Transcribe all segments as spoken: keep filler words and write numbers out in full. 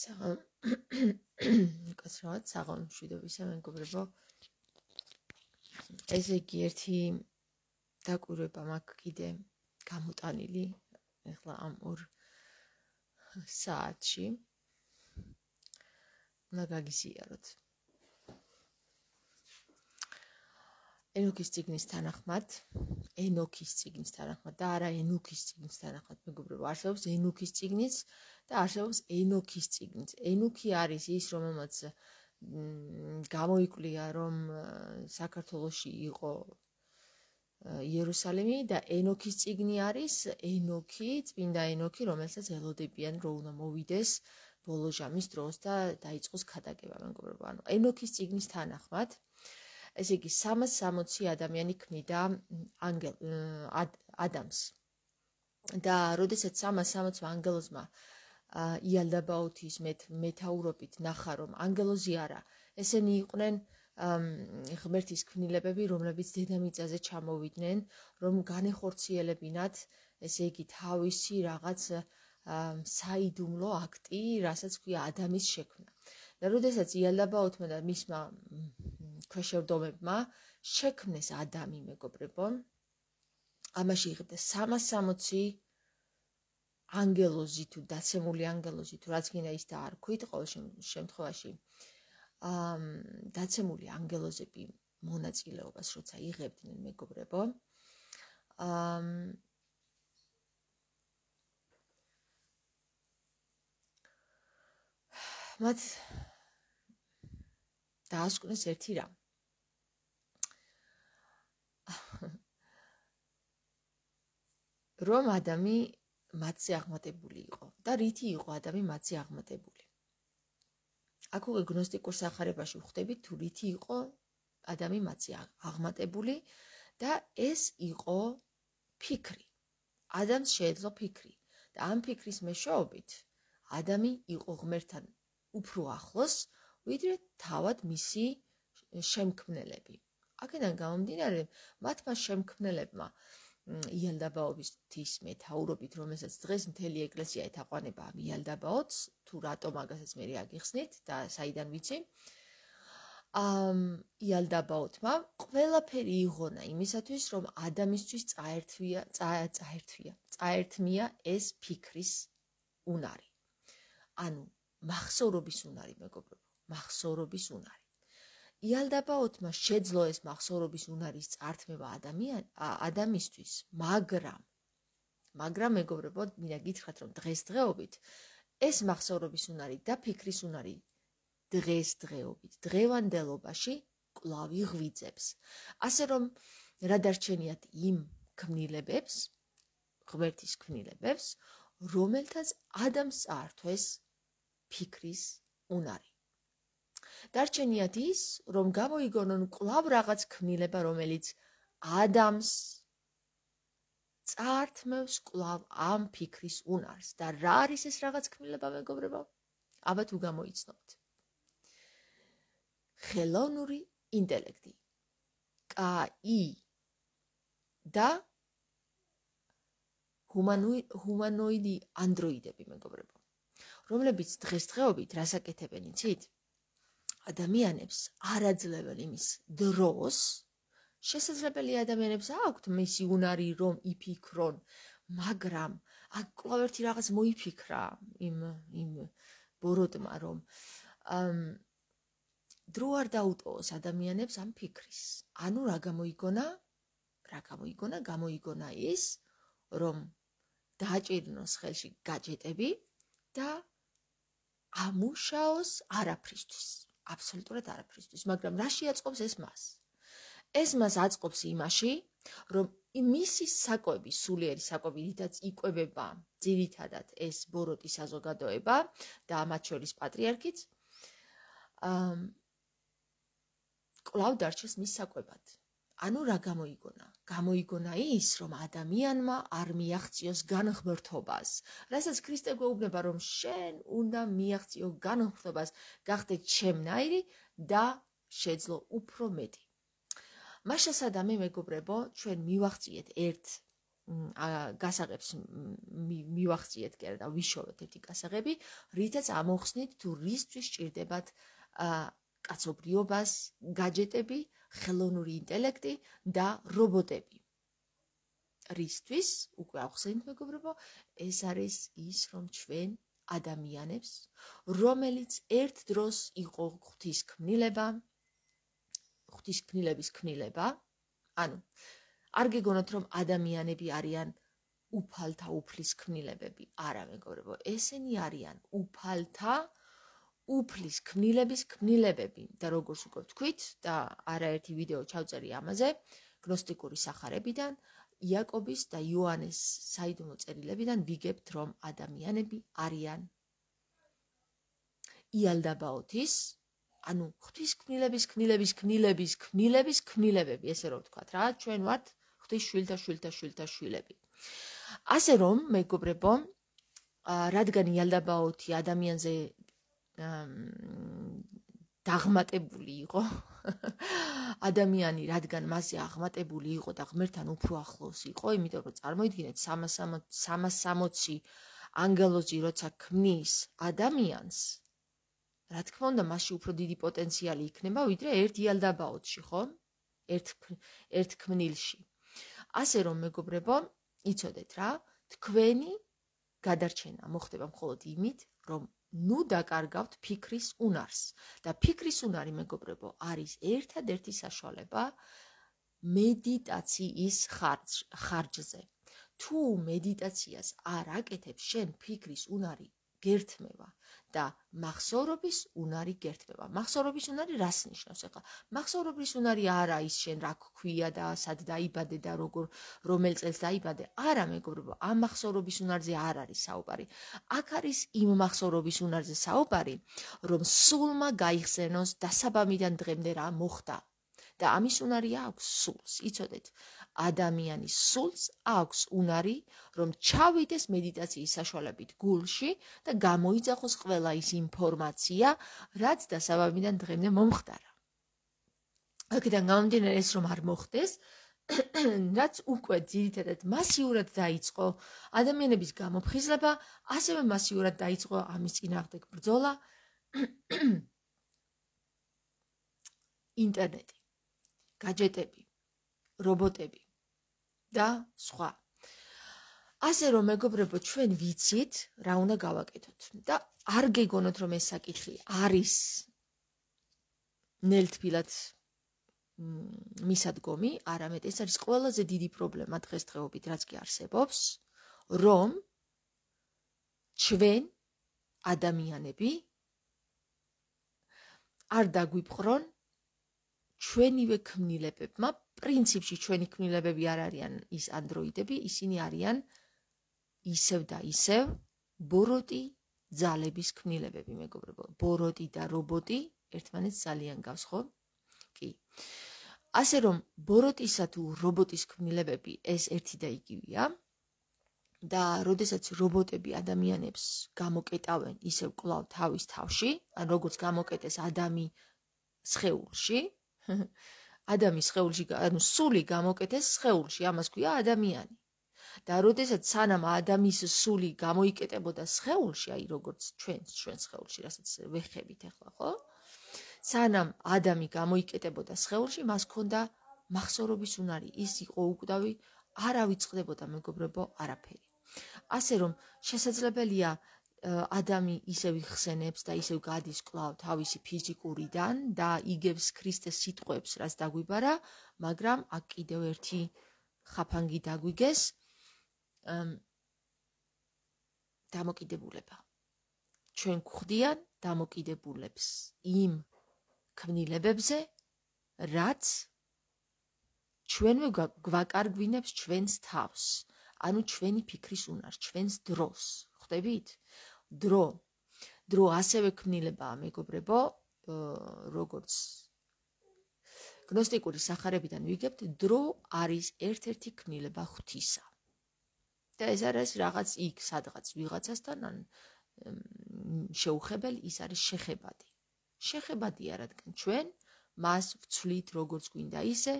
საღამ კაცრავად საღამ მშვიდობისა მეგობრებო. ესე იგი ერთი დაკვირვება მაქვს კიდე გამოტანილი ეხლა ამ ორ საათში. უნდა გაგიზიაროთ. ენოქის წიგნის თანახმად, ენოქის წიგნის თანახმად და არა ენუქის წიგნის თანახმად მეგობრებო, არსებობს ენუქის წიგნიც და არსებობს ენოქის წიგნიც. ენუქი არის ის, რომელმაც გამოიკვლია, რომ საქართველოში იყო იერუსალიმი და ენოქის წიგნი არის ენოქი, წმინდა ენოქი, რომელსაც ელოდებიან, რომ უნდა მოვიდეს ბოლო ჟამის დროს და დაიწყოს ქადაგება მეგობრებო. ანუ ენოქის წიგნის თანახმად ესე იგი სამას სამოცი ადამიანი ქმნიდა ანგელ ადამს. და როდესაც სამას სამოცი ანგელოზმა იალდაბაოთის მეთაურობით ნახა, რომ ანგელოზი არა, ესენი იყვნენ ღმერთის ქმნილებები, რომლებიც დედამიწაზე ჩამოვიდნენ, რომ განეხორციელებინათ, ესე იგი თავისი რაღაც საიდუმლო აქტი, რასაც ქვია ადამის შექმნა. და როდესაც იალდაბაოთმა და მისმა ქვეშევრდომებმა შექმნეს ადამი მეგობრებო, ამაში იღებდა სამას სამოცი ანგელოზი თუ დაცემული ანგელოზი თუ რაც გინდა ის დაარქვით, ყოველ შემთხვევაში დაცემული ანგელოზები მონაწილეობას როცა იღებდნენ მეგობრებო, მათ დაასკვნეს ერთი რამ. რომ ადამი მათზე აღმატებული იყო და რითი იყო ადამი მათზე აღმატებული. აქ უკვე გნოსტიკურ სახარებაში ვხვდებით თუ რითი იყო ადამი მათზე აღმატებული და ეს იყო ფიქრი. ადამს შეეძლო ფიქრი და ამ ფიქრის მეშვეობით ადამი იყო ღმერთთან უფრო ახლოს, ვიდრე თავად მისი შემქმნელები. აქედან გამომდინარე, მათმა შემქმნელებმა იალდაბაოთის მეთაურობით, რომელსაც დღეს მთელი ეკლესია ეთაყვანება იალდაბაოთს, თუ რატომ მაგასაც მე აგიხსნით და საიდან ვიცი, იალდაბაოთმა ყველაფერი იღონა იმისათვის, რომ ადამიანისთვის წაერთვია, წაერთვია, წაერთმია ეს ფიქრის უნარი. ანუ მახსოვრობის უნარი მეგობრებო, მახსოვრობის უნარი. იალდაბაოთმა შეძლო ეს მახსოვრობის უნარის წართმევა ადამიანისთვის, მაგრამ მაგრამ მეგობრებო, მინდა გითხრათ, რომ დღესდღეობით ეს მახსოვრობის უნარი და ფიქრის უნარი დღესდღეობით, დღევანდელობაში კვლავ იღვიძებს. ასე რომ რა დარჩენიათ იმ ქმნილებებს, ღმერთის ქმნილებებს, რომელთაც ადამიანს წაართვეს ფიქრის უნარი. დარჩენიათ ის, რომ გამოიგონონ კვლავ რაღაც ქმნილება, რომელიც ადამიანს წაართმევს კვლავ ამ ფიქრის უნარს. და რა არის ეს რაღაც ქმნილება მეგობრებო? აბა თუ გამოიცნობთ. ხელოვნური ინტელექტი, კაი და ჰუმანოიდი ანდროიდები მეგობრებო, რომლებიც დღესდღეობით რას აკეთებენ იცით? ადამიანებს არ აძლევენ იმის დროს, შესაძლებელი ადამიანებს აქვთ მისი უნარი რომ იფიქრონ, მაგრამ აქ კვლავ ერთი რაღაც მოიფიქრა იმ იმ ბოროტმა, რომ დრო არ დაუტოვოს ადამიანებს ამ ფიქრის. ანუ რა გამოიგონა? რა გამოიგონა? გამოიგონა ის, რომ დააჭირნოს ხელში გაჯეტები და ამუშაოს არაფრისთვის. აბსოლუტურად არაფრისთვის, მაგრამ რა შეაწყობს ეს მას? ეს მას აწყობს იმაში, რომ მისი საკვები, სულიერი საკვები, რითაც იკვებება ძირითადად ეს ბოროტი საზოგადოება და მათ შორის პატრიარქიც, კვლავ დარჩეს მის საკვებად. ანუ რა გამოიგონა? გამოიგონა ის, რომ ადამიანმა არ მიაღწიოს განღმრთობას, რასაც ქრისტე გვეუბნება, რომ შენ უნდა მიაღწიო განღმრთობას, გახდე ჩემნაირი და შეძლო უფრო მეტი. მაშასადამე მეგობრებო, ჩვენ მივახციეთ ერთ გასაღებს მივახციეთ კი არა და ვიშოვეთ ერთი გასაღები, რითაც ამოხსნით თუ რისთვის ჭირდებათ კაცობრიობას, გაჯეტები, ხელოვნური ინტელექტი და რობოტები. რისთვის, უკვე ახსენეთ მეგობრებო, ეს არის ის, რომ ჩვენ ადამიანებს, რომელიც ერთ დროს იყო ღვთისქმნილება, ღვთისქმნილების ქმნილება, ანუ არ გეგონოთ, რომ ადამიანები არიან უფალთა უფლის ქმნილებები, არა მეგობრებო, ესენი არიან უფალთა უფლის ქმნილების ქმნილებები და როგორც უკვე ვთქვით და არაერთი ვიდეო ჩავწერი ამაზე, გნოსტიკური სახარებიდან, იაკობის და იოანეს საიდუმლო წერილებიდან ვიგებთ, რომ ადამიანები არიან იალდაბაოთის, ანუ ღვთისქმნილების ქმნილების ქმნილების ქმნილების ქმნილებები, ესე რომ ვთქვათ რა, ჩვენ ვართ ღვთის შვილთა შვილთა შვილთა შვილები. ასე რომ, მეგობრებო, რადგან იალდაბაოთი ადამიანზე დაღმატებული იყო, ადამიანი რადგან მასზე აღმატებული იყო და ღმერთთან უფრო ახლოს იყო, იმიტომ რომ წარმოიდგინეთ სამას სამოცი ანგელოზი როცა ქმნის ადამიანს, რა თქმა უნდა, მასში უფრო დიდი პოტენციალი იქნება, ვიდრე ერთ იალდაბაოთში, ხო? ერთ ერთ ქმნილში. ასე რომ, მეგობრებო, იცოდეთ რა, თქვენი გადარჩენა მოხდება მხოლოდ იმით, რომ ნუ დაკარგავთ ფიქრის უნარს. და ფიქრის უნარი, მეგობრებო, არის ერთადერთი საშუალება მედიტაციის ხარჯზე. თუ მედიტაციას არ აკეთებ, შენ ფიქრის უნარი გერთმევა და მახსოვრობის უნარი გერთმევა. მახსოვრობის უნარი რას ნიშნავს ახლა? მახსოვრობის უნარი არა ის შენ რა გქვია და სად დაიბადე და როგორ რომელ წელს დაიბადე. არა მეგობრებო, ამ მახსოვრობის უნარზე არ არის საუბარი. აქ არის იმ მახსოვრობის უნარზე საუბარი, რომ სულმა გაიხსენოს დასაბამიდან დღემდე რა მოხდა. და ამის უნარი აქვს სულს. იცოდეთ, ადამიანის სულს აქვს უნარი, რომ ჩავიდეს მედიტაციის საშუალებით გულში და გამოიძახოს ყველა ის ინფორმაცია, რაც დასაბამიდან დღემდე მომხდარა. აქედან გამომდინარე, ეს რომ არ მოხდეს, რაც უკვე ძირითადად მასიურად დაიწყო ადამიანების გამოფხიზლება, ასევე მასიურად დაიწყო ამის წინააღმდეგ ბრძოლა ინტერნეტი, გაჯეტები, რობოტები და სხვა. ასე რომ, მეგობრებო, ჩვენ ვიცით, რა უნდა გავაკეთოთ და არ გეგონოთ, რომ ეს საკითხი არის ნელთბილად მისადგომი, არამედ ეს არის ყველაზე დიდი პრობლემა დღესდღეობით, რაც კი არსებობს, რომ ჩვენ ადამიანები არ დაგვიპყრონ ჩვენივე ქმნილებებმა, პრინციპში ჩვენი ქმნილებები არ არიან ის ანდროიდები, ისინი არიან ისევ და ისევ ბოროტი ძალების ქმნილებები, მეგობრებო. ბოროტი და რობოტი ერთმანეთს ძალიან გავს, ხო? კი. ასე რომ, ბოროტისა თუ რობოტის ქმნილებები ეს ერთი და იგივეა და როდესაც რობოტები ადამიანებს გამოკეტავენ ისევ კვლავ თავის თავში, ან როგორც გამოკეტეს ადამი სხეულში, ადამის სხეულში, ანუ სული გამოკეტეს სხეულში, ამას ქვია ადამიანი. და როდესაც სანამ ადამის სული გამოიკეტებოდა სხეულში, აი როგორც ჩვენ ჩვენ სხეულში, რასაც ვეხებით ახლა, ხო? სანამ ადამი გამოიკეტებოდა სხეულში, მას ჰქონდა მახსოვრობის უნარი, ის იყო უკვდავი, არ ავიწყდებოდა მეგობრებო არაფერი. ასე რომ შესაძლებელია ადამი ისევ იხსენებს და ისევ გადის კვლავ თავისი ფიზიკურიდან და იგებს ქრისტეს სიტყვებს, რაც დაგვიბარა, მაგრამ აქ კიდევ ერთი ხაფანგი დაგვიგეს, დამოკიდებულება. ჩვენ გვხდიან დამოკიდებულებს იმ ქმნილებებზე, რაც ჩვენვე გვაკარგვინებს ჩვენს თავს, ანუ ჩვენი ფიქრის უნარს, ჩვენს დროს. ხვდებით? დრო. დრო ასევე ქმნილებაა, მეგობრებო, როგორც გნოსტიკური სახარებიდან ვიგებთ, დრო არის ერთ-ერთი ქმნილება ღვთისა. და ეს არის რაღაც იქ, სადღაც ვიღაცასთან, ან შეუხებელი, ის არის შეხებადი. შეხებადია, რადგან ჩვენ მას ვცვლით როგორც გვინდა ისე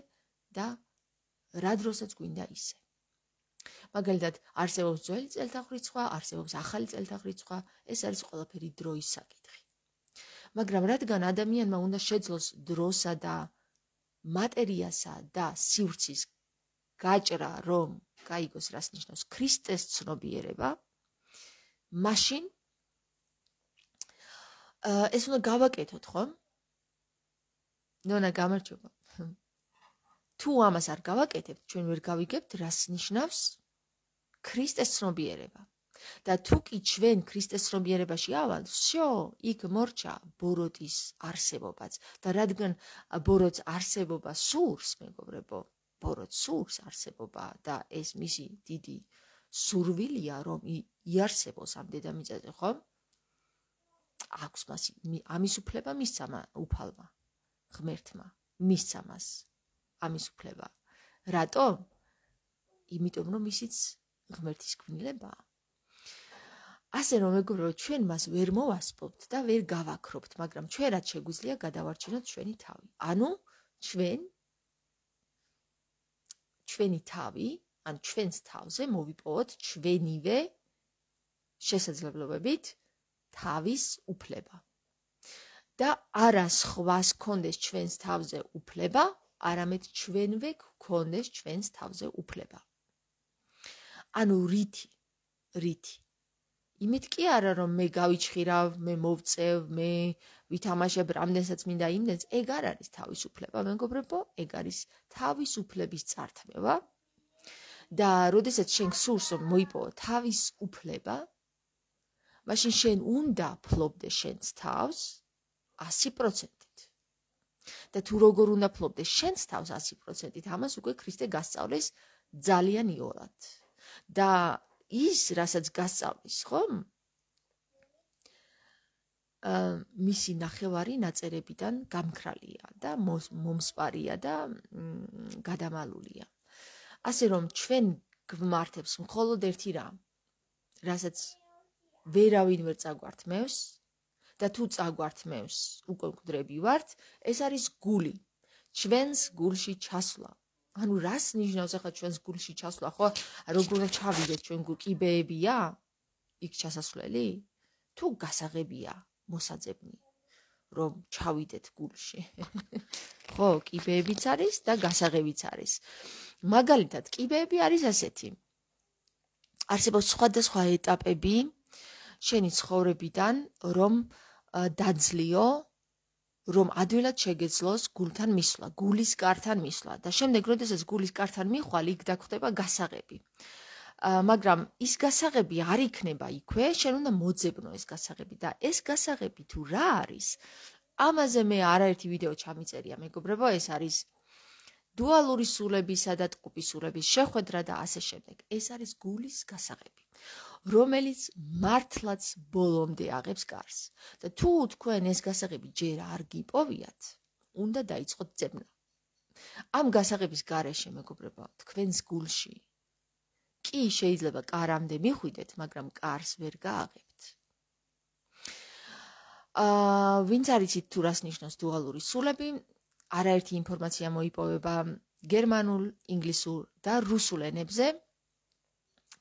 და რა დროსაც გვინდა ისე. მაგალითად, არსებობს ძველი წელთაღრიცხვა, არსებობს ახალი წელთაღრიცხვა, ეს არის ყველაფერი დროის საკითხი. მაგრამ რადგან ადამიანმა უნდა შეძლოს დროსა და მატერიასა და სივრცის გაჭრა, რომ გაიგოს რას ნიშნავს ქრისტეს ცნობიერება, მაშინ ეს უნდა გავაკეთოთ, ხო? ნონა გამარჯობა. თუ ამას არ გავაკეთებთ, ჩვენ ვერ გავიგებთ რას ნიშნავს ქრისტეს ცნობიერება. და თუ კი ჩვენ ქრისტეს ცნობიერებაში ავალ, всё, იქ მორჩა ბოროტის არსებობაც. და რადგან ბოროტს არსებობა სურს, მეგობრებო, ბოროტს სურს არსებობა და ეს მისი დიდი სურვილია, რომ იარსებოს ამ დედამიწაზე, ხო? აქვს მას ამის უფლება მისცა უფალმა, ღმერთმა, მისცა მას ამის უფლება. რატო? იმიტომ რომ ისიც ღმერთის ქმნილებაა. ასე რომ მეგობრებო, ჩვენ მას ვერ მოვასწრებთ და ვერ გავაქრობთ, მაგრამ ჩვენ რაც შეგვიძლია გადავარჩინოთ ჩვენი თავი. ანუ ჩვენ ჩვენი თავი, ან ჩვენს თავზე მოვიპოვოთ ჩვენივე შესაძლებლობებით თავის უფლება. და არა სხვას კონდეს ჩვენს თავზე უფლება, არამედ ჩვენვე გქონდეს ჩვენს თავზე უფლება. ანუ რითი? რითი? იმით კი არა რომ მე გავიჩხირავ, მე მოვწევ, მე ვითამაშებ რამდენსაც მინდა იმდენს, ეგ არ არის თავისუფლება, მეგობრებო, ეგ არის თავისუფლების წართმევა. და როდესაც შენ გსურს რომ მოიპოვო თავისუფლება, მაშინ შენ უნდა ფლობდე შენს თავს ასი პროცენტით. და თუ როგორ უნდა ფლობდე შენს თავს ასი პროცენტით, ამას უკვე ქრისტე გასწავლეს ძალიან იოლად. და ის, რასაც გასწავლის, ხომ? მისი ნახევარი ნაწერებიდან გამქრალია და მომსპარია და გადამალულია. ასე რომ ჩვენ გვმართებს მხოლოდ ერთი რამ, რასაც ვერავინ ვერ წაგვართმევს და თუ წაგვართმევს, უკვე მკვდრები ვართ, ეს არის გული, ჩვენს გულში ჩასვლა. ანუ რას ნიშნავს ახლა ჩვენს გულში ჩასვლა, ხო? როგორ უნდა ჩავიდეთ ჩვენ გულ კიბეებია? იქ ჩასასვლელი? თუ გასაღებია მოსაძებნი, რომ ჩავიდეთ გულში. ხო, კიბეებიც არის და გასაღებიც არის. მაგალითად, კიბეები არის ასეთი. არსებობს სხვადასხვა ეტაპები შენი ცხოვრებიდან, რომ დაძლიო, რომ ადვილად შეგეძლოს გულთან მისვლა, გულის კართან მისვლა და შემდეგ, როდესაც გულის კართან მიხვალ, იქ დაგხვდება გასაღები. მაგრამ ის გასაღები არ იქნება იქვე, შენ უნდა მოძებნო ეს გასაღები და ეს გასაღები თუ რა არის? ამაზე მე არაერთი ვიდეო ჩამიწერია, მეგობრებო, ეს არის დუალური სულებისა და ტყუპის სულების შეხვედრა და ასე შემდეგ. ეს არის გულის გასაღები, რომელიც მართლაც ბოლომდე აღებს კარს. და თუ თქვენ ეს გასაღები ჯერ არ გიპოვიათ, უნდა დაიწყოთ ძებნა. ამ გასაღების გარეშე, მეგობრებო, თქვენს გულში კი შეიძლება კარამდე მიხვიდეთ, მაგრამ კარს ვერ გააღებთ. აა, ვინც არ იცით თუ რას ნიშნავს დუალური სულები, არაერთი ინფორმაცია მოიპოვება გერმანულ, ინგლისურ და რუსულ ენებზე.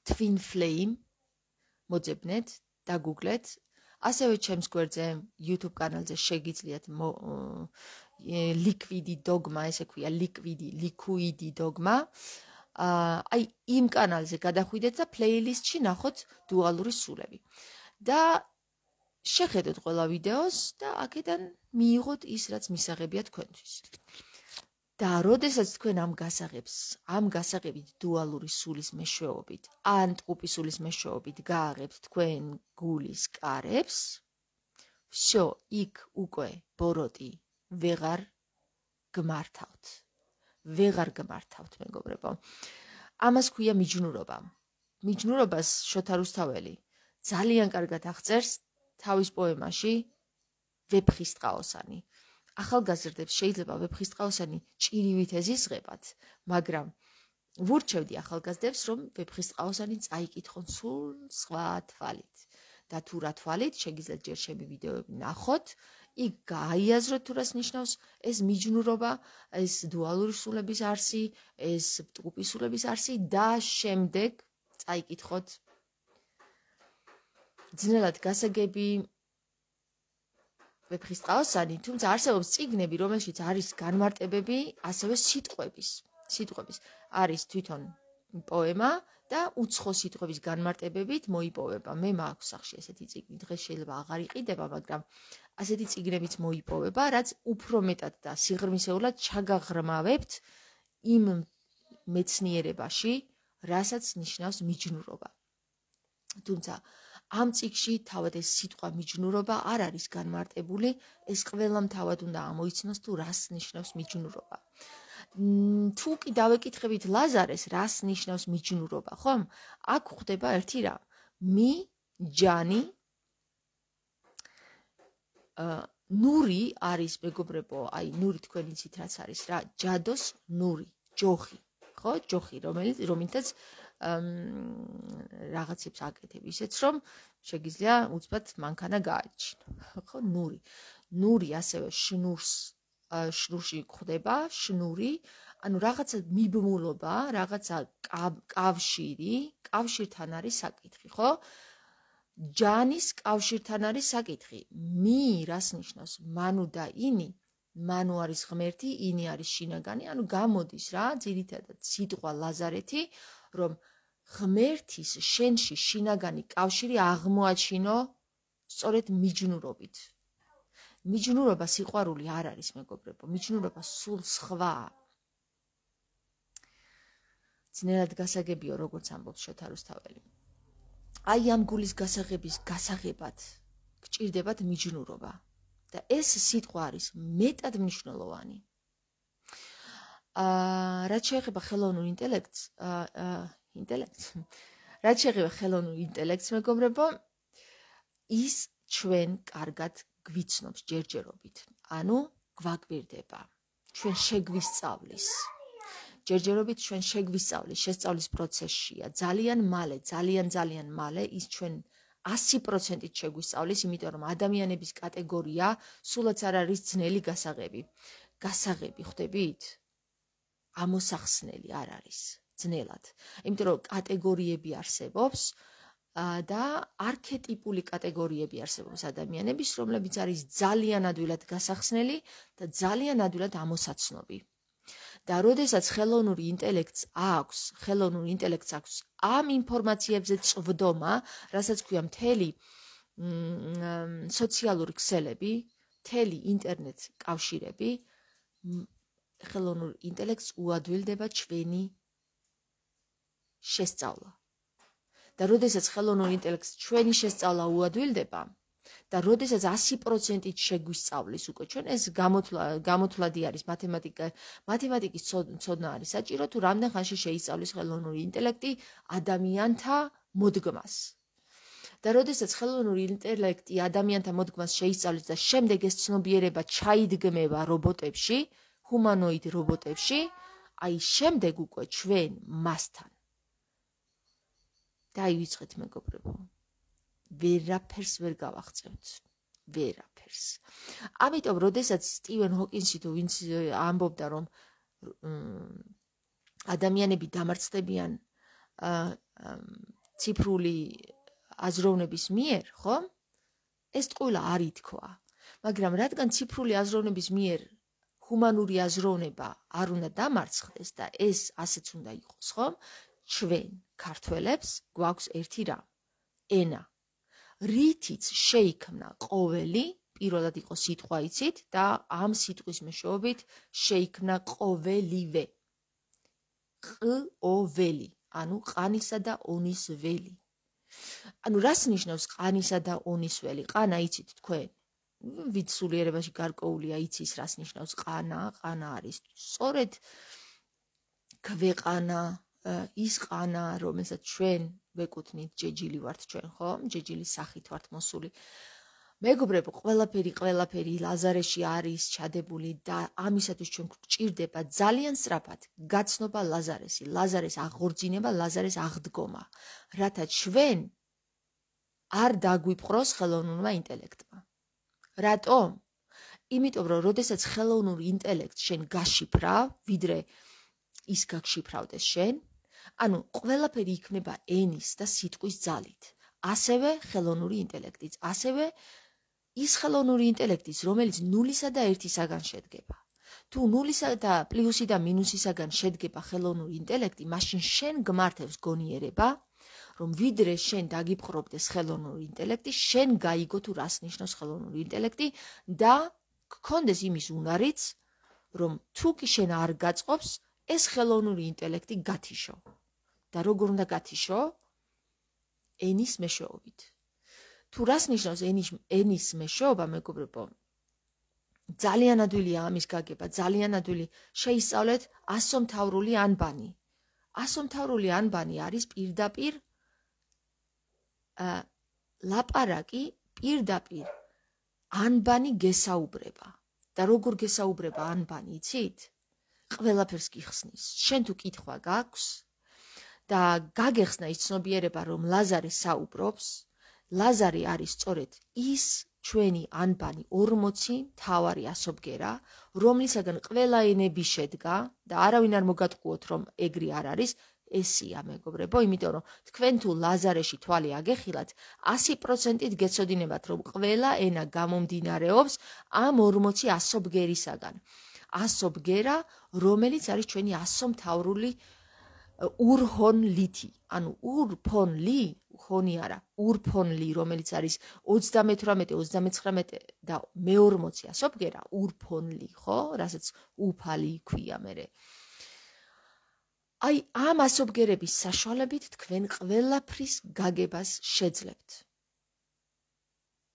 Twin Flame მოძებნეთ, დაგუგლეთ. ასევე ჩემს გვერდზე, YouTube კანალზე შეგიძლიათ liquidi dogma, ესე ქვია, liquidi, liquidi dogma. აი იმ კანალზე გადახვიდეთ და პლეილისტში ნახოთ დუალური სულები. და შეხედოთ ყველა ვიდეოს და აქედან მიიღოთ ის, რაც მისაღებია თქვენთვის. და როდესაც თქვენ ამ გასაღებს, ამ გასაღებით დუალური სულის მეშვეობით, ან ტყუპის სულის მეშვეობით გააღებთ თქვენ გულის კარებს, всё, იქ უკვე ბოროტი ვეღარ გმართავთ. ვეღარ გმართავთ, მეგობრებო. ამას ქვია მიჯნურობა. მიჯნურობას შოთა რუსთაველი ძალიან კარგად აღწერს თავის პოემაში ვეფხისტყაოსანი. ახალგაზრდებს შეიძლება ვეფხისტყაოსანი ჭირივით ეზიზღებათ, მაგრამ ვურჩევდი ახალგაზრდებს, რომ ვეფხისტყაოსანი წაიკითხონ სულ სხვა თვალით. და თუ რა თვალით, შეგიძლიათ ჯერ ჩემი ვიდეოები ნახოთ, იქ გაიაზროთ თუ რას ნიშნავს ეს მიჯნურობა, ეს დუალური სულების არსი, ეს ტყუპის სულების არსი და შემდეგ წაიკითხოთ. ძნელად გასაგები ვეფხისტყაოსანი, თუმცა არსებობს წიგნები, რომელშიც არის განმარტებები ასევე სიტყვების. სიტყვების არის თვითონ პოემა და უცხო სიტყვების განმარტებებით მოიპოვება. მე მაქვს სახში ესეთი წიგნი, დღეს შეიძლება აღარ იყიდება, მაგრამ ასეთი წიგნებიც მოიპოვება, რაც უფრო მეტად და სიღრმისეულად ჩაგაღრმავებთ იმ მეცნიერებაში, რასაც ნიშნავს მიჯნურობა. თუმცა ამ წიგნში თავად ეს სიტყვა მიჯნურობა არ არის განმარტებული, ეს ყველამ თავად უნდა ამოიცნოს თუ რას ნიშნავს მიჯნურობა. თუ კი დავეკითხებით ლაზარეს, რას ნიშნავს მიჯნურობა, ხომ? აქ ხდება ერთი რამ. მი ჯანი ნური არის მეგობრებო, აი ნური თქვენ იცით რაც არის რა, ჯადოს ნური, ჯოხი, ხო? ჯოხი, რომელიც რომელთაც რაღაცებს აკეთებ ისეც რომ შეგიძლია უცბად მანქანა გააჩინო, ხო? ნური. ნური ასევე შნურს შნურში ხდება, შნური, ანუ რაღაცა მიბმულობა, რაღაცა კავშირი, კავშირთან არის საკითხი, ხო? ჯანის კავშირთან არის საკითხი. მი რას ნიშნავს? მანუ და ინი, მანუ არის ღმერთი, ინი არის შინაგანი, ანუ გამოდის რა, ძირითადად სიტყვა ლაზარეთი, რომ ღმერთის შენში შინაგანი კავშირი აღმოაჩინო სწორედ მიჯნურობით. მიჯნურობა სიყვარული არ არის, მეგობრებო, მიჯნურობა სულ სხვაა. ძნელად გასაგებიო, როგორც ამბობს შოთა რუსთაველი. აი ამ გულის გასაღების გასაღებად გჭირდებათ მიჯნურობა და ეს სიტყვა არის მეტად მნიშვნელოვანი. აა რაც შეეხება ხელოვნურ ინტელექტს, აა ინტელექტს. რაც შეეხება ხელოვნურ ინტელექტს, მეგობრებო, ის ჩვენ კარგად გვიცნობს ჯერჯერობით. ანუ გვაკვირდება. ჩვენ შეგვისწავლის. ჯერჯერობით ჩვენ შეგვისწავლის, შესწავლის პროცესშია. ძალიან მალე, ძალიან ძალიან მალე ის ჩვენ ასი პროცენტით შეგვისწავლის, იმიტომ რომ ადამიანების კატეგორია სულაც არ არის ძნელი გასაღები. გასაღები ხვდებით? ამოსახსნელი არ არის ძნელად. იმიტომ რომ კატეგორიები არსებობს და არქეტიპული კატეგორიები არსებობს ადამიანების, რომლებიც არის ძალიან ადვილად გასახსნელი და ძალიან ადვილად ამოსაცნობი. და როდესაც ხელოვნური ინტელექტს აქვს, ხელოვნურ ინტელექტს აქვს ამ ინფორმაციებზე წვდომა, რასაც ქვია მთელი სოციალური ქსელები, მთელი ინტერნეტ კავშირები, ხელოვნურ ინტელექტს უადვილდება ჩვენი შესწავლა. და როდესაც ხელოვნურ ინტელექტს ჩვენი შესწავლა უადვილდება და როდესაც ასი პროცენტით შეგვისწავლის უკვე ჩვენ, ეს გამოთვლადი არის მათემატიკა, მათემატიკის ცოდნა არის საჭირო, თუ რამდენ ხანში შეისწავლის ხელოვნური ინტელექტი ადამიანთა მოდგმას. და როდესაც ხელოვნური ინტელექტი ადამიანთა მოდგმას შეისწავლის და შემდეგ ეს ცნობიერება ჩაიდგმება რობოტებში, ჰუმანოიდ რობოტებში, აი შემდეგ უკვე ჩვენ მასთან დაივიწყეთ, მეგობრებო. ვერაფერს ვერ გავაღწევთ. ვერაფერს. ამიტომ, როდესაც სტივენ ჰოკინსი თუ ვინც ამბობდა, რომ ადამიანები დამარცხდებიან ციფრული აზროვნების მიერ, ხო? ეს ტყუილა არ ითქვა. მაგრამ რადგან ციფრული აზროვნების მიერ ჰუმანური აზროვნება არ უნდა დამარცხდეს და ეს ასეც უნდა იყოს, ხო? ჩვენ ქართველებს გვაქვს ერთი რამ, ენა. რითიც შეიქმნა ყოველი, პირველად იყო სიტყვა იცით და ამ სიტყვის მეშვეობით შეიქმნა ყოველივე. ყ-ო-ველი, ანუ ყანისა და ონის ველი. ანუ რას ნიშნავს ყანისა და ონის ველი? ყანა იცით თქვენ? ვით სულიერებაში გარკვეულია იცის რას ნიშნავს ყანა, ყანა არის სწორედ ქვეყანა, ის ყანა, რომელსაც ჩვენ ვეკუთვნით, ჯეჯილი ვართ ჩვენ, ხო? ჯეჯილის სახით ვართ მოსული. მეგობრებო, ყველაფერი, ყველაფერი ლაზარეში არის ჩადებული და ამისათვის ჩვენ გვჭირდება ძალიან სწრაფად გაცნობა ლაზარესი, ლაზარეს აღორძინება, ლაზარეს აღდგომა, რათა ჩვენ არ დაგვიპყროს ხელოვნურმა ინტელექტმა. რატომ? იმიტომ რომ როდესაც ხელოვნურ ინტელექტს შენ გაშიფრავ, ვიდრე ის გაგშიფრავდეს შენ, ანუ ყველაფერი იქნება ენის და სიტყვის ძალით. ასევე ხელოვნური ინტელექტიც, ასევე ის ხელოვნური ინტელექტიც, რომელიც ნულისა და ერთისაგან შედგება. თუ ნულისა და პლუსი და მინუსისაგან შედგება ხელოვნური ინტელექტი, მაშინ შენ გმართებს გონიერება, რომ ვიდრე შენ დაგიპყრობდეს ხელოვნური ინტელექტი, შენ გაიგო თუ რას ნიშნავს ხელოვნური ინტელექტი და გქონდეს იმის უნარიც, რომ თუ კი შენ არ გაწყობს, ეს ხელოვნური ინტელექტი გათიშო. და როგორ უნდა გათიშო? ენის მეშვეობით. თუ რას ნიშნავს ენის ენის მეშვეობა, მეგობრებო? ძალიან ადვილია ამის გაგება, ძალიან ადვილი. შეისწავლეთ ასომთავრული ანბანი. ასომთავრული ანბანი არის პირდაპირ ლაპარაკი, პირდაპირ ანბანი გესაუბრება. და როგორ გესაუბრება ანბანი, იცით? ყველაფერს გიხსნის. შენ თუ კითხვა გაქვს და გაგეხსნა ის ცნობიერება, რომ ლაზარე საუბრობს, ლაზარი არის სწორედ ის ჩვენი ანბანი ორმოცი მთავარი ასობგერა, რომლისაგან ყველა ენები შედგა და არავინ არ მოგატყუოთ, რომ ეგრე არ არის, ესია მეგობრებო, იმიტომ რომ თქვენ თუ ლაზარეში თვალი აგეხილათ, ასი პროცენტით გეცოდინებათ, რომ ყველა ენა გამომდინარეობს ამ ორმოცი ასობგერისაგან. ასობგერა, რომელიც არის ჩვენი ასომთავრული ურჰონლითი, ანუ ურფონლი, ხონი არა, ურფონლი, რომელიც არის ოცდამეთვრამეტე, ოცდამეცხრამეტე და მეორმოცი ასობგერა, ურფონლი, ხო? რასაც უფალი ქვია მერე. აი, ამ ასობგერების საშუალებით თქვენ ყველაფრის გაგებას შეძლებთ.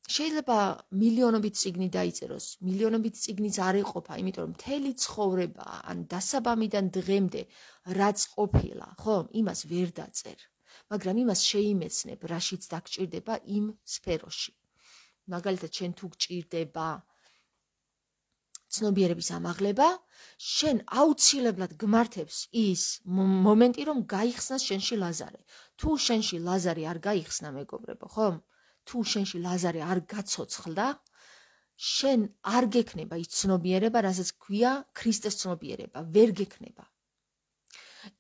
შეიძლება მილიონობით წიგნი დაიწეროს, მილიონობით წიგნიც არ იყოფა, იმიტომ რომ მთელი ცხოვრება, ან დასაბამიდან დღემდე რაც ყოფილა, ხო, იმას ვერ დაწერ. მაგრამ იმას შეიმეცნებ, რაშიც დაგჭირდება იმ სფეროში. მაგალითად, შენ თუ გჭირდება ცნობიერების ამაღლება, შენ აუცილებლად გმართებს ის მომენტი, რომ გაიხსნას შენში ლაზარე. თუ შენში ლაზარი არ გაიხსნა, მეგობრებო, ხო? თუ შენში ლაზარე არ გაცოცხლდა, შენ არ გექნება ის ცნობიერება, რასაც ქვია ქრისტეს ცნობიერება, ვერ გექნება.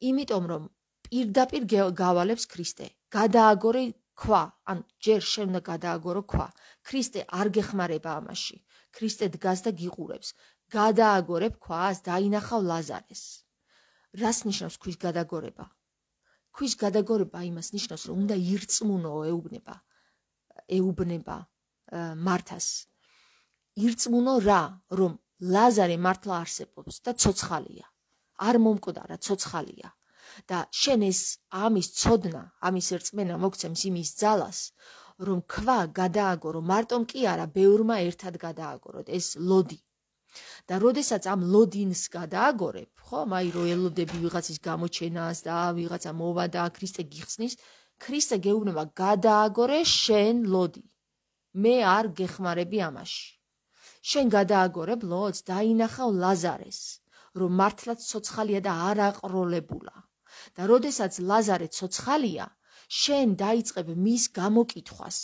იმიტომ რომ პირდაპირ გავალებს ქრისტე. გადააგორე ქვა, ან ჯერ შენ უნდა გადააგორო ქვა. ქრისტე არ გეხმარება ამაში. ქრისტე დგას და გიყურებს. გადააგორებ ქვას, დაინახავ ლაზარეს. რას ნიშნავს ქვის გადაგორება? ქვის გადაგორება იმას ნიშნავს, რომ უნდა ირწმუნო ეუბნება. ეუბნება მართას. ირწმუნო რა, რომ ლაზარე მართლა არსებობს და ცოცხალია. არ მომკვდარა, ცოცხალია. და შენ ეს ამის ცოდნა, ამის რწმენა მოგცემს იმის ძალას, რომ ქვა გადააგორო, მარტომ კი არა, ბევრმა ერთად გადააგოროთ, ეს ლოდი. და როდესაც ამ ლოდინს გადააგორებ, ხო, აი რო ელოდები ვიღაცის გამოჩენას და ვიღაცა მოვა და ქრისტე გიხსნის, ქრისტე გეუბნება გადააგორე შენ ლოდი. მე არ გეხმარები ამაში. შენ გადააგორებ ლოდს, დაინახავ ლაზარეს, რომ მართლაც ცოცხალია და არ აყროლებულა. და როდესაც ლაზარე ცოცხალია, შენ დაიწყებ მის გამოკითხვას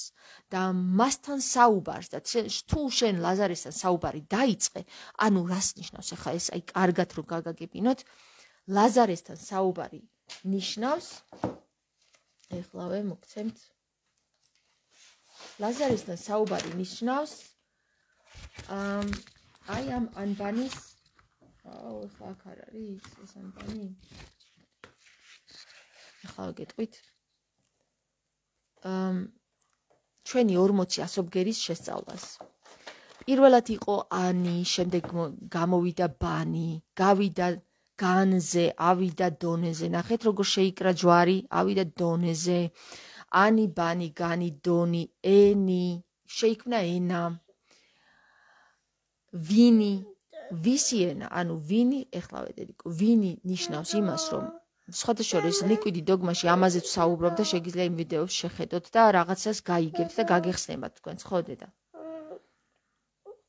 და მასთან საუბარს და თუ შენ ლაზარესთან საუბარი დაიწყე, ანუ რას ნიშნავს ახლა ეს, აი კარგად რომ გაგაგებინოთ, ლაზარესთან საუბარი ნიშნავს, ეხლავე მოგცემთ, ლაზარესთან საუბარი ნიშნავს აი ამ ანბანის, აუ ახლა აქ არ არის ეს ანბანი, ახლა გეტყვით, ჩვენი ორმოცი ასობგერის შესწავლას. პირველად იყო ანი, შემდეგ გამოვიდა ბანი, გავიდა განზე, ავიდა დონეზე. ნახეთ როგორ შეიკრა ჯვარი, ავიდა დონეზე. ანი, ბანი, განი, დონი, ენი, შეიქმნა ენა. ვინი, ვისი ენა, ანუ ვინი, ეხლა ვედერიკო, ვინი ნიშნავს იმას, რომ სხვადასხვა ლიკვიდი დოგმაში ამაზეც საუბრობ და შეგიძლია იმ ვიდეოს შეხედოთ და რაღაცას გაიგებთ და გაგეხსნებათ თქვენს, ხო დედა?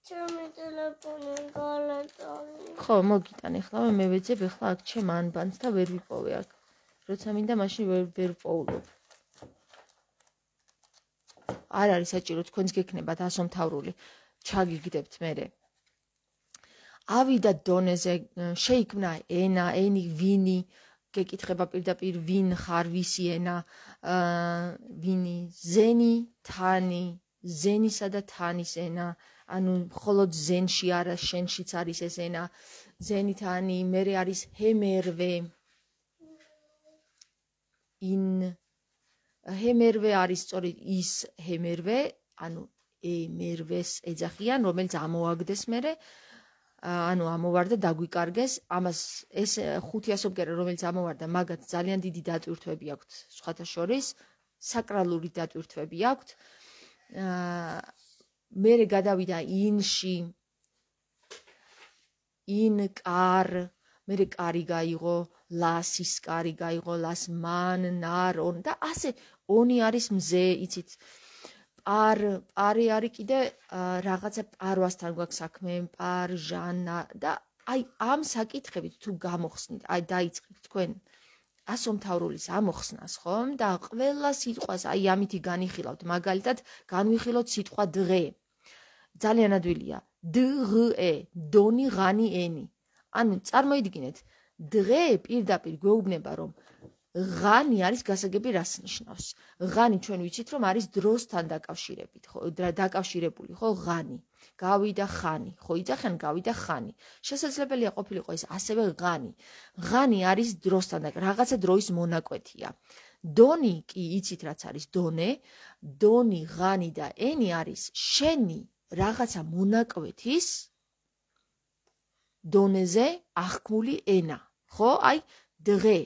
ჩემი ტელეფონი გალატანი. ხო, მოგიტან ეხლა მე ვეძებ ეხლა აქ ჩემ ანბანს და ვერ ვიპოვე აქ. როცა მინდა მაშინ ვერ ვერ პოულობ. არ არის საჭირო თქვენს გექნებათ ასომთავრული. ჩაგიგდებთ მერე. ავიდა დონეზე შეიქმნა ენა, ენი, ვინი, გეკითხება პირდაპირ ვინ ხარ, ვისი ენა, ვინი, ზენი, თანი, ზენისა და თანის ენა, ანუ მხოლოდ ზენში არა, შენშიც არის ეს ენა, ზენი, თანი, მერე არის ჰემერვე. in ჰემერვე არის სწორედ ის ჰემერვე, ანუ ემერვეს ეძახიან, რომელიც ამოაგდეს მერე, ანუ ამოვარდა დაგვიკარგეს, ამას ეს ხუთი ასობგერა, რომელიც ამოვარდა, მაგათ ძალიან დიდი დატვირთვები აქვთ, სხვათა შორის, საკრალური დატვირთვები აქვთ. მერე გადავიდა ინში, in კარ, მერე კარი გაიღო, ლასის კარი გაიღო, ლას მან, ნარ, on და ასე ონი არის მზე, იცით. პარ, პარი არის კიდე რაღაცა პარვასთან გვაქვს საქმე, პარ, ჟანა და აი ამ საკითხებით თუ გამოხსნით, აი დაიწყეთ თქვენ ასომთავრულის ამოხსნას, ხომ? და ყველა სიტყვას აი ამითი განიხილავთ, მაგალითად, განვიხილოთ სიტყვა დღე. ძალიან ადვილია. დღე, დონი, ღანი, ენი. ანუ წარმოიდგინეთ, დღე პირდაპირ გვეუბნება, რომ ღანი არის გასაგები რას ნიშნავს. ღანი ჩვენ ვიცით, რომ არის დროსთან დაკავშირებით, ხო, დაკავშირებული, ხო, ღანი. გავიდა ხანი, ხო, იძახიან გავიდა ხანი. შესაძლებელია ყოფილიყო ეს ასევე ღანი. ღანი არის დროსთან და რაღაცა დროის მონაკვეთია. დონი კი იცით რაც არის დონე, დონი, ღანი და ენი არის შენი რაღაცა მონაკვეთის დონეზე აღქმული ენა, ხო? აი დღე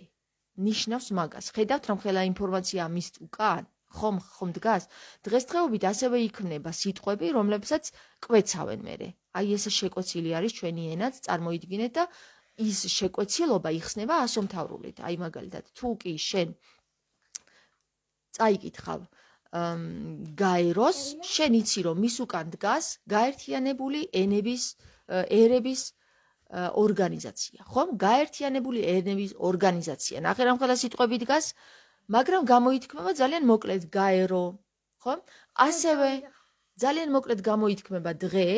ნიშნავს მაგას. ხედავთ რომ ხელა ინფორმაცია მის უკან, ხომ ხომ დგას. დღესდღეობით ასევე იქმნება სიტყვები, რომლებსაც კვეცავენ მერე. აი ესე შეკვეცილი არის ჩვენი ენაც, წარმოიდგინეთ და ის შეკვეცილობა იხსნება ასომთავრულით. აი მაგალითად, თუ კი შენ წაიკითხავ გაეროს, შენ იცი რომ მის უკან დგას გაერთიანებული ენების ერების ორგანიზაცია, ხომ? გაერთიანებული ენების ორგანიზაცია. ნახე რა მხოლოდ სიტყვები დგას, მაგრამ გამოითქმება ძალიან მოკლედ გაერო, ხომ? ასევე ძალიან მოკლედ გამოითქმება დღე,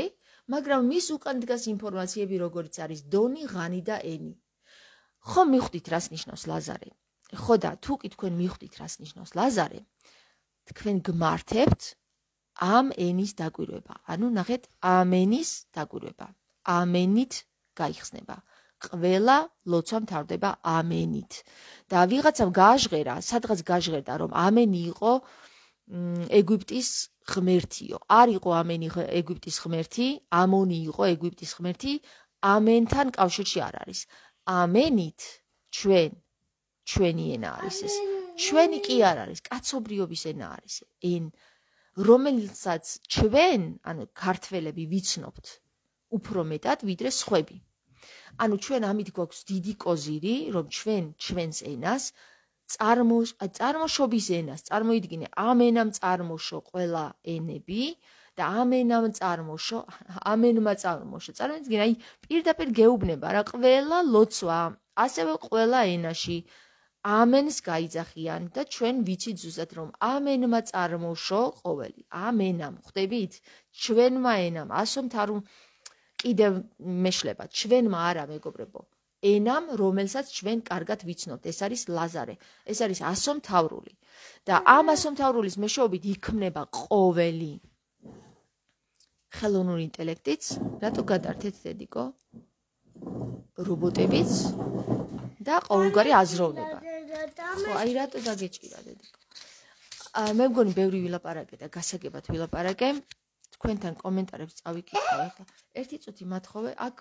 მაგრამ მის უკან დგას ინფორმაციები, როგორც არის დონი, ღანი და ენი. ხომ მიხვდით რას ნიშნავს ლაზარე? ხო და თუ კი თქვენ მიხვდით რას ნიშნავს ლაზარე, თქვენ გმართებთ ამ ენის დაკვირვება. ანუ ნახეთ, ამ ენის დაკვირვება. ამენით გაიხსნება. ყველა ლოცვა მთავრდება ამენით. და ვიღაცამ გააჟღერა, სადღაც გააჟღერდა, რომ ამენი იყო ეგვიპტის ღმერთიო. არ იყო ამენი ეგვიპტის ღმერთი, ამონი იყო ეგვიპტის ღმერთი, ამენთან კავშირში არ არის. ამენით ჩვენ ჩვენი ენა არის ეს. ჩვენი კი არ არის, კაცობრიობის ენა არის. ენ რომელსაც ჩვენ, ანუ ქართველები ვიცნობთ უფრო მეტად ვიდრე სხვები. ანუ ჩვენ ამით გვაქვს დიდი კოზირი, რომ ჩვენ ჩვენს ენას წარმოშობის ენას, წარმოიდგინე, ამ ენამ წარმოშო ყველა ენები და ამ ენამ წარმოშო, ამ ენმა წარმოშო. წარმოიდგინე, აი პირდაპირ გეუბნება რა, ყველა ლოცვა, ასევე ყველა ენაში ამენს გაიძახიან და ჩვენ ვიცით ზუსტად რომ ამენმა წარმოშო ყოველი. ამ ენამ, ხვდებით? ჩვენმა ენამ, ასომთავრულ კიდევ მეშლება, ჩვენმა არა მეგობრებო, ენამ, რომელსაც ჩვენ კარგად ვიცნობთ, ეს არის ლაზარე, ეს არის ასომთავრული და ამ ასომთავრულის მეშვეობით იქმნება ყოველი ხელოვნური ინტელექტიც, რატო გადართეთ დედიკო? რობოტებიც და ყოველგვარი აზროვნება. ხო, აი რატო დაგეჭირა დედიკო? მე მგონი ბევრი ვილაპარაკე და გასაგებად ვილაპარაკე. თქვენთან კომენტარებს წავიკითხე ახლა. ერთი წუთი მათხოვე, აქ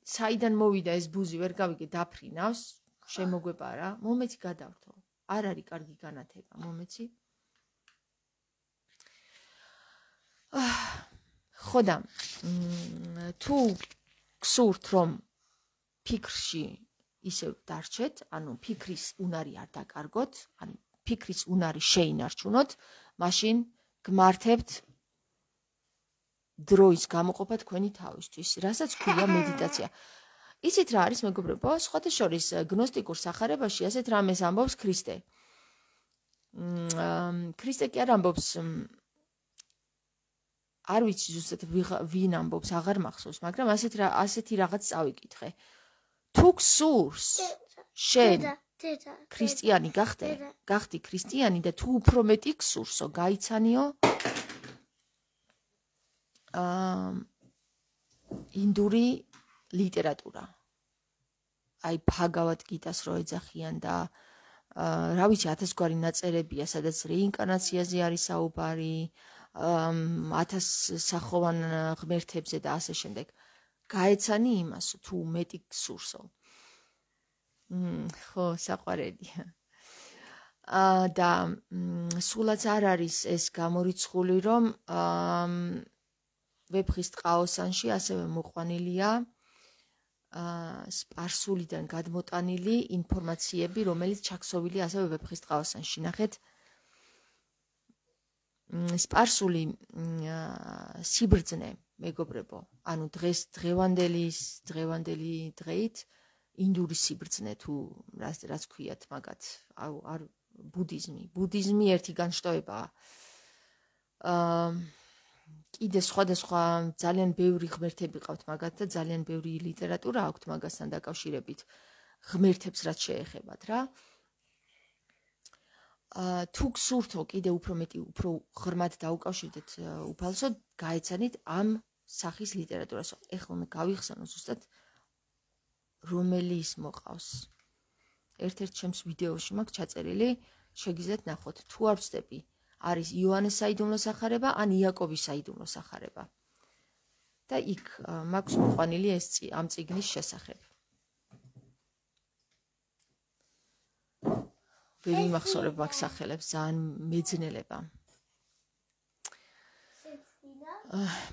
საიდან მოვიდა ეს ბუზი, ვერ გავიგე, დაფრინავს, შემოგვეპარა. მომეცი გადავრთო. არ არის კარგი განათება, მომეცი. ხო და თუ გსურთ რომ ფიქრში ისევ დარჩეთ, ანუ ფიქრის უნარი არ დაკარგოთ, ანუ ფიქრის უნარი შეინარჩუნოთ, მაშინ გმართებთ დროის გამოყოფა თქვენი თავისთვის, რასაც ქვია მედიტაცია. იცით რა არის მეგობრებო, სხვათა შორის გნოსტიკურ სახარებაში ასეთ რამეს ამბობს ქრისტე. ქრისტე კი არ ამბობს, არ ვიცი ზუსტად ვინ ამბობს, აღარ მახსოვს, მაგრამ ასეთ ასეთი რაღაც წავიკითხე. თუ გსურს შენ ქრისტიანი გახდე, გახდი ქრისტიანი და თუ უფრო მეტი გსურსო, გაიცანიო აა ინდური ლიტერატურა. აი ბჰაგავად გიტას რო ეძახიან და რა ვიცი ათასგვარი ნაწერებია, სადაც რეინკარნაციაზე არის საუბარი, ათას სახოვან ღმერთებზე და ასე შემდეგ. გაეცანი იმასო, თუ მეტი გსურსო. ხო, საყვარელია. და სულაც არ არის ეს გამორიცხული, რომ ვეფხის ტყაოსანში ასევე მოყვანილია სპარსულიდან გადმოტანილი ინფორმაციები, რომელიც ჩაქსოვილია ასევე ვეფხის ტყაოსანში. ნახეთ, სპარსული სიბრძნე, მეგობრებო, ანუ დღეს დღევანდელი დღევანდელი დღეით ინდური სიბრძნე თუ რაც ქვიათ მაგათ, არ ბუდიზმი, ბუდიზმი ერთი განშტოებაა. აა კიდე სხვადასხვა ძალიან ბევრი ღმერთები ყავთ მაგათ და ძალიან ბევრი ლიტერატურა აქვთ მაგასთან დაკავშირებით ღმერთებს რაც შეეხებათ რა. აა თუ გსურთო კიდე უფრო მეტი უფრო ღრმად დაუკავშირდეთ უფალსოდ, გაეცანით ამ სახის ლიტერატურას. ეხლა მე გავიხსენო ზუსტად რომელი ის მოყავს. ერთ-ერთ ჩემს ვიდეოში მაქვს ჩაწერილი, შეგიძლიათ ნახოთ. თუ არ ვცდები, არის იოანეს საიდუმლო სახარება ან იაკობის საიდუმლო სახარება. და იქ მაქვს მოყვანილი ეს ამ წიგნის შესახებ. ვერ იმახსოვრებ მაგ სახელებს, ძალიან მეძნელება.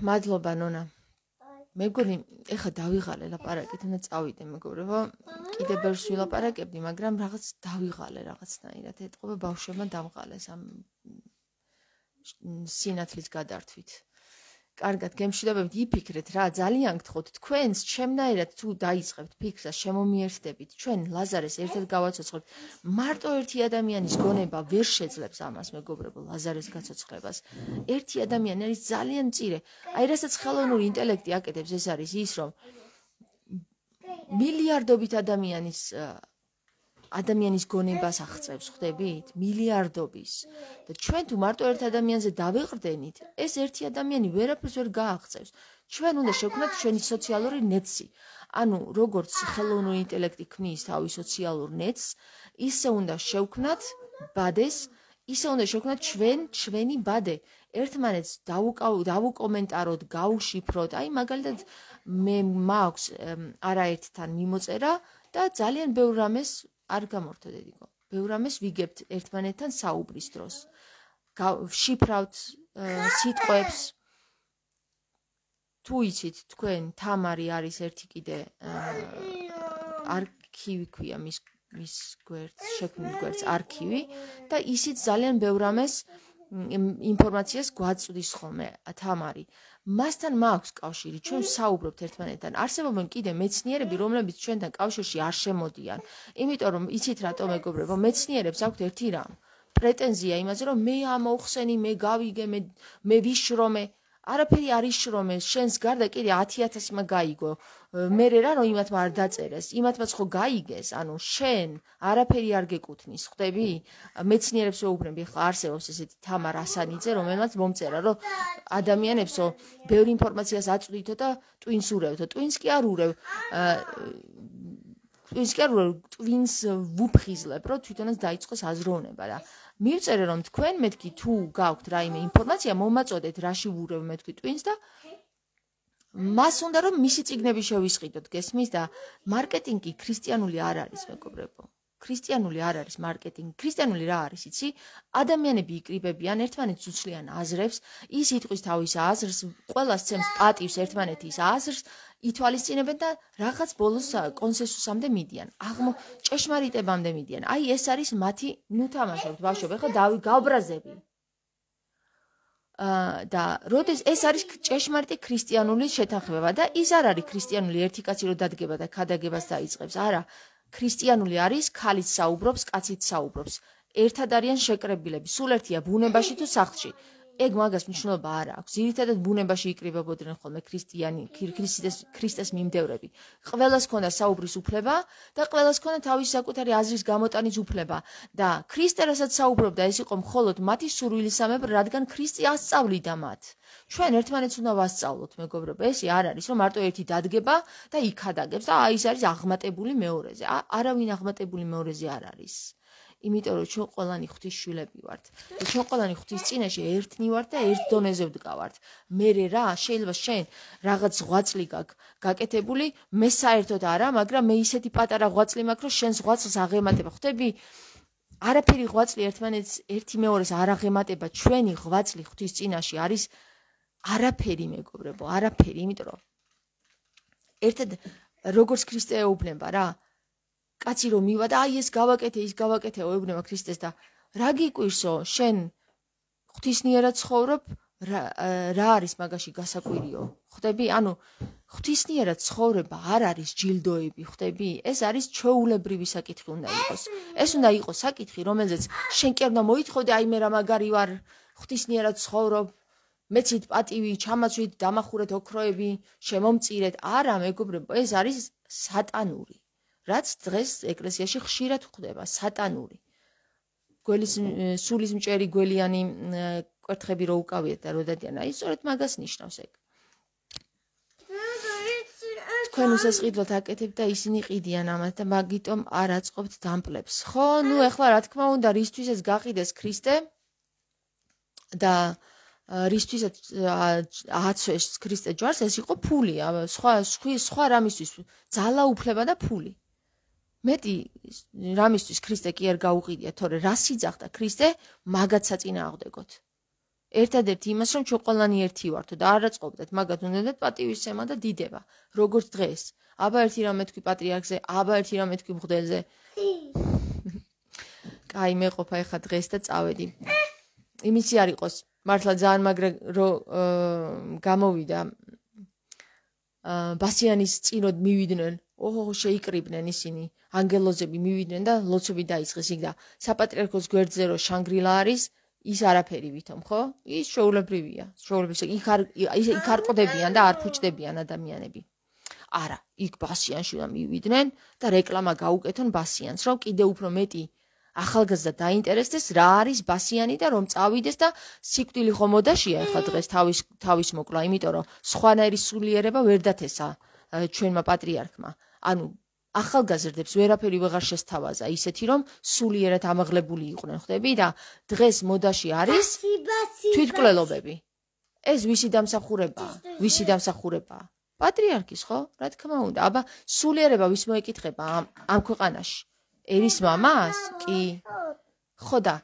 მადლობა ნონა. მე მგონი ეხა დავიღალე ლაპარაკით, უნდა წავიდე მეგობრებო. კიდე ბევრს ვილაპარაკებდი, მაგრამ რაღაც დავიღალე რაღაცნაირად. ეთყობა ბავშვებმა დამღალეს ამ სინათლის გადართვით. კარგად, გემშვიდობებით, იფიქრეთ რა, ძალიან გთხოვთ, თქვენს ჩემნაირად თუ დაიწყებთ ფიქრს და შემომიერთდებით, ჩვენ ლაზარეს ერთად გავაცოცხლებთ. მარტო ერთი ადამიანის გონება ვერ შეძლებს ამას, მეგობრებო, ლაზარეს გაცოცხლებას. ერთი ადამიანი არის ძალიან მწირე. აი, რასაც ხელოვნური ინტელექტი აკეთებს, ეს არის ის, რომ მილიარდობით ადამიანის ადამიანის გონებას აღწევს, ხვდებით? მილიარდობის. და ჩვენ თუ მარტო ერთ ადამიანზე დავეყრდენით, ეს ერთი ადამიანი ვერაფერს ვერ გააღწევს. ჩვენ უნდა შევქმნათ ჩვენი სოციალური ნეტსი. ანუ როგორც ხელოვნური ინტელექტი ქმნის თავის სოციალურ ნეტს, ისე უნდა შევქმნათ ბადეს, ისე უნდა შევქმნათ ჩვენ ჩვენი ბადე. ერთმანეთს დავუკომენტაროთ, გავუშიფროთ. აი მაგალითად მე მაქვს არაერთთან მიმოწერა და ძალიან ბევრ რამეს არ გამორთო დედიკო. ბევრ რამეს ვიგებთ ერთმანეთთან საუბრის დროს. ვშიფრავთ სიტყვებს. თუ იცით თქვენ, თამარი არის ერთი კიდე არქივი ქვია მის მის გვერდს, შექმნილ გვერდს არქივი და ისიც ძალიან ბევრ რამეს ინფორმაციას გვაწვდის ხოლმე თამარი. მასთან მაქვს კავშირი, ჩვენ საუბრობთ ერთმანეთთან. არსებობენ კიდე მეცნიერები, რომლებიც ჩვენთან კავშირში არ შემოდიან. იმიტომ რომ იცით რატო მეგობრებო, მეცნიერებს აქვთ ერთი რამ. პრეტენზია იმაზე, რომ მე ამოვხსენი, მე გავიგე, მე მე ვიშრომე. არაფერი არ იშრომე, შენს გარდა კიდე ათი ათასმა გაიგო. მერე რა რომ იმათმა არ დაწერეს, იმათმაც ხო გაიგეს, ანუ შენ არაფერი არ გეკუთნის, ხვდები? მეცნიერებს ვეუბნები, ხა არსებობს ესეთი თამარ ასანიძე, რომელმაც მომწერა, რომ ადამიანებსო ბევრი ინფორმაციას აწვდითო და ტვინს ურევთო. ტვინს კი არ ურევ. ტვინს კი არ ურევ, ტვინს ვუფხიზლებ, რომ თვითონაც დაიწყოს აზროვნება და მივწერე რომ თქვენ მეთქი თუ გაქვთ რაიმე ინფორმაცია, მომაწოდეთ რაში ვურევ მეთქი ტვინს და მას უნდა რომ მისი წიგნები შევისყიდოთ, გესმის და მარკეტინგი ქრისტიანული არ არის, მეგობრებო. ქრისტიანული არ არის მარკეტინგი. ქრისტიანული რა არის, იცი? ადამიანები იკრიბებიან, ერთმანეთს უცვლიან აზრებს, ის იტყვის თავის აზრს, ყველას ცემს პატივს ერთმანეთის აზრს, ითვალისწინებენ და რაღაც ბოლოს კონსენსუსამდე მიდიან. აღმო ჭეშმარიტებამდე მიდიან. აი ეს არის მათი, ნუ თამაშობთ ბავშვები, ხა დავი გავბრაზები. და როდეს ეს არის ჭეშმარიტი ქრისტიანული შეთანხმება და ის არ არის ქრისტიანული ერთი კაცი რო დადგება და ქადაგებას დაიწყებს. არა, ქრისტიანული არის ქალიც საუბრობს, კაციც საუბრობს. ერთად არიან შეკრებილები, სულ ერთია ბუნებაში თუ სახლში. ეგ მაგას მნიშვნელობა არ აქვს. ძირითადად ბუნებაში იკრიბებოდნენ ხოლმე ქრისტიანი, ქრისტეს ქრისტეს მიმდევრები. ყველას ჰქონდა საუბრის უფლება და ყველას ჰქონდა თავისი საკუთარი აზრის გამოტანის უფლება და ქრისტე რასაც საუბრობდა, ეს იყო მხოლოდ მათი სურვილისამებრ, რადგან ქრისტე ასწავლიდა მათ. ჩვენ ერთმანეთს უნდა ვასწავლოთ, მეგობრებო, ეს არ არის, რომ მარტო ერთი დადგება და იქ ადაგებს და აი ეს არის აღმატებული მეორეზე. არავინ აღმატებული მეორეზე არ არის. იმიტომ რომ ჩვენ ყველანი ღვთის შვილები ვართ. და ჩვენ ყველანი ღვთის წინაშე ერთნი ვართ და ერთ დონეზე ვდგავართ. მერე რა, შეიძლება შენ რაღაც ღვაწლი გაქვს გაკეთებული, მე საერთოდ არა, მაგრამ მე ისეთი პატარა ღვაწლი მაქვს, რომ შენს ღვაწლს აღემატება. ხვდები? არაფერი ღვაწლი ერთმანეთს ერთი მეორეს არ აღემატება. ჩვენი ღვაწლი ღვთის წინაშე არის არაფერი, მეგობრებო, არაფერი, იმიტომ რომ ერთად როგორც ქრისტე ეუბნება რა, კაცი რომ მივა და აი ეს გავაკეთე, ის გავაკეთე, ეუბნება ქრისტეს და რა გიკვირსო, შენ ღვთისნიერად ცხოვრობ, რა არის მაგაში გასაკვირიო? ხვდები? ანუ ღვთისნიერად ცხოვრება არ არის ჯილდოები, ხვდები? ეს არის ჩვეულებრივი საკითხი უნდა იყოს. ეს უნდა იყოს საკითხი, რომელზეც შენ კი არ უნდა მოითხოვდე, აი მე რა მაგარი ვარ, ღვთისნიერად ცხოვრობ, მეცით პატივი, ჩამაცვით, დამახურეთ ოქროები, შემომწირეთ. არა, მეგობრებო, ეს არის სატანური. რაც დღეს ეკლესიაში ხშირად ხდება, სატანური. გველის სულის მჭერი გველიანი კვერთხები რო უკავიეთ და რო დადიან, აი სწორედ მაგას ნიშნავს ეგ. თქვენ უსასყიდლოდ აკეთებთ და ისინი ყიდიან ამათ და მაგიტომ არ აწყობთ დამპლებს. ხო, ნუ ეხლა რა თქმა უნდა, რისთვისაც გაყიდეს ქრისტე და რისთვისაც აცვეს ქრისტე ჯვარს, ეს იყო ფული, სხვა სხვა რამისთვის ძალაუფლება და ფული. მეტი რამისთვის ქრისტე კი არ გაუყიდია, თორე რა სიძახდა ქრისტე, მაგაც საწინააღმდეგოთ. ერთადერთი იმას, რომ ჩვენ ყველანი ერთი ვართ და არ აწყობდეთ, მაგათ უნდათ პატივისცემა და დიდება, როგორც დღეს. აბა ერთი რამე თქვი პატრიარქზე, აბა ერთი რამე თქვი მღვდელზე. კაი, მე ყოფა ეხა დღეს და წავედი. იმისი არ იყოს, მართლა ძალიან მაგრა რო გამოვიდა ბასიანის წინოდ მივიდნენ, ოჰო, შეიკრიბნენ ისინი, ანგელოზები მივიდნენ და ლოცვები დაიწყეს იქ და საპატრიარქოს გვერდზე რო შანგრილა არის, ის არაფერი ვითომ, ხო? ის ჩვეულებრივია, ჩვეულებრივია. იქ არ იქ არ ყდებიან და არ ფუჭდებიან ადამიანები. არა, იქ ბასიანში უნდა მივიდნენ და რეკლამა გაუკეთონ ბასიანს, რომ კიდე უფრო მეტი ახალგაზრდა დაინტერესდეს რა არის ბასიანი და რომ წავიდეს და სიკვდილი ხო მოდაშია ახლა დღეს თავის თავის მოკლა, იმიტომ რომ სხვანაირი სულიერება ვერ დათესა ჩვენმა პატრიარქმა. ანუ ახალგაზრდებს ვერაფერი ვეღარ შესთავაზა ისეთი რომ სულიერად ამაღლებული იყვნენ, ხვდები და დღეს მოდაში არის თვითმკვლელობები. ეს ვისი დამსახურებაა? ვისი დამსახურებაა? პატრიარქის, ხო? რა თქმა უნდა. აბა სულიერება ვის მოეკითხება ამ ქვეყანაში? ერის მამას? კი. ხო და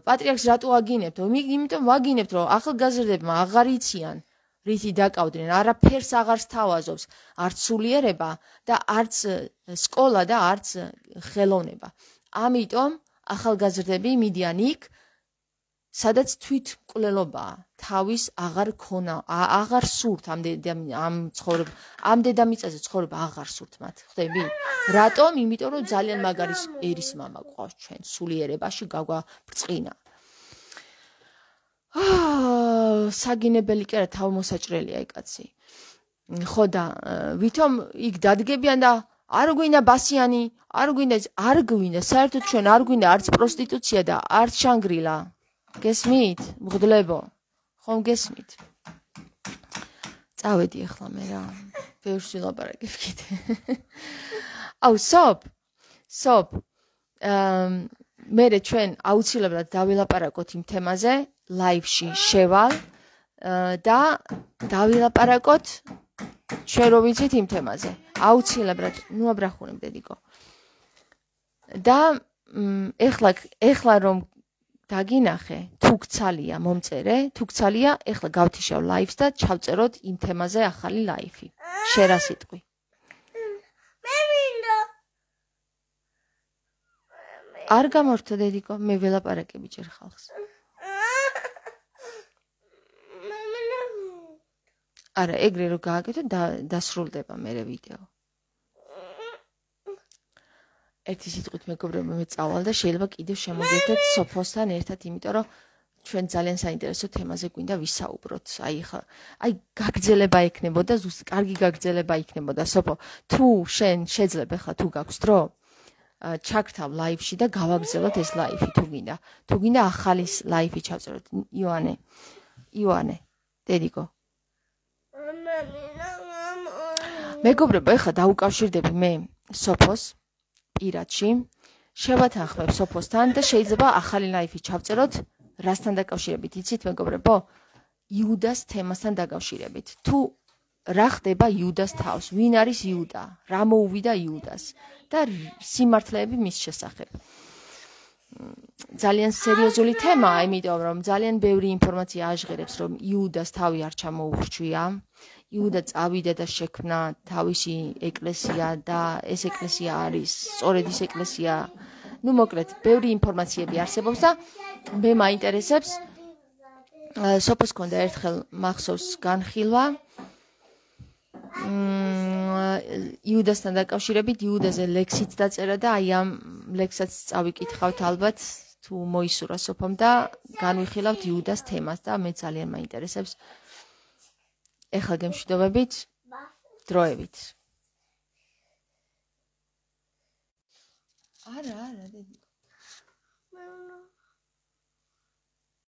პატრიარქს რატო აგინებთ? იმიტომ ვაგინებთ, რომ ახალგაზრდებმა აღარ იციან რითი დაკავდნენ, არაფერს აღარ სთავაზობს, არც სულიერება და არც სკოლა და არც ხელოვნება. ამიტომ ახალგაზრდები მიდიან იქ, სადაც თვითმკვლელობაა, თავის აღარ ქონა, აღარ სურთ ამ ამ ცხოვრება, ამ დედამიწაზე ცხოვრება აღარ სურთ მათ, ხვდები? რატომ? იმიტომ რომ ძალიან მაგარი ერის მამა გვყავს ჩვენ სულიერებაში გაგვაბრწყინა. აა, საგინებელი კი არა, თავმოსაჭრელია ეგ კაცი. ხო და ვითომ იქ დადგებიან და არ გვინდა ბასიანი, არ გვინდა, არ გვინდა, საერთოდ ჩვენ არ გვინდა არც პროსტიტუცია და არც შანგრილა. გესმით? მღვდლებო. ხომ გესმით? წავედი ახლა მე რა. ბევრს ვილაპარაკებ კიდე. აუ, სოპ. სოპ. აა მერე ჩვენ აუცილებლად დავილაპარაკოთ იმ თემაზე, ლაივში შევალ და დავილაპარაკოთ ჩვენ რო ვიცით იმ თემაზე. აუცილებლად, ნუ აბრახუნებ დედიკო. და ეხლა ეხლა რომ დაგინახე, თუ გცალია მომწერე, თუ გცალია, ეხლა გავთიშავ ლაივს და ჩავწეროთ იმ თემაზე ახალი ლაივი. შერა სიტყვი. მე მინდა. არ გამორთო დედიკო, მე ველაპარაკები ჯერ ხალხს. არა, ეგრე რო გააკეთო დასრულდება მერე ვიდეო. ერთი სიტყვით მეგობრებო, მე წავალ და შეიძლება კიდევ შემოგერთეთ სოფოსთან ერთად, იმიტომ რომ ჩვენ ძალიან საინტერესო თემაზე გვინდა ვისაუბროთ. აი ხა, აი გაგრძელება ექნებოდა, ზუსტ კარგი გაგრძელება იქნებოდა. სოფო, თუ შენ შეძლებ ხა თუ გაქვს დრო, ჩაგრთავ ლაივში და გავაგრძელოთ ეს ლაივი თუ გინდა. თუ გინდა ახალი ლაივი ჩავწეროთ. იოანე. იოანე. დედიკო. მეგობრებო, ეხლა დაუკავშირდები მე სოფოს პირადში. შევათანხმებ სოფოსთან და შეიძლება ახალი ლაივი ჩავწეროთ. რასთან დაკავშირებით იცით მეგობრებო? იუდას თემასთან დაკავშირებით. თუ რა ხდება იუდას თავს? ვინ არის იუდა? რა მოუვიდა იუდას? და სიმართლეები მის შესახებ. ძალიან სერიოზული თემაა, იმიტომ რომ ძალიან ბევრი ინფორმაცია აჟღერებს, რომ იუდას თავი არ ჩამოუხრჩვია. იუდა წავიდა და შექმნა თავისი ეკლესია და ეს ეკლესია არის სწორედ ის ეკლესია. ნუ მოკლედ, ბევრი ინფორმაციები არსებობს და მე მაინტერესებს სოფოს ქონდა ერთხელ მახსოვს განხილვა იუდასთან დაკავშირებით, იუდაზე ლექსიც დაწერა და აი ამ ლექსსაც წავიკითხავთ ალბათ თუ მოისურვა სოფომ და განვიხილავთ იუდას თემას და მე ძალიან მაინტერესებს ეხლა გემშვიდობებით დროებით. არა, არა, დედიკო.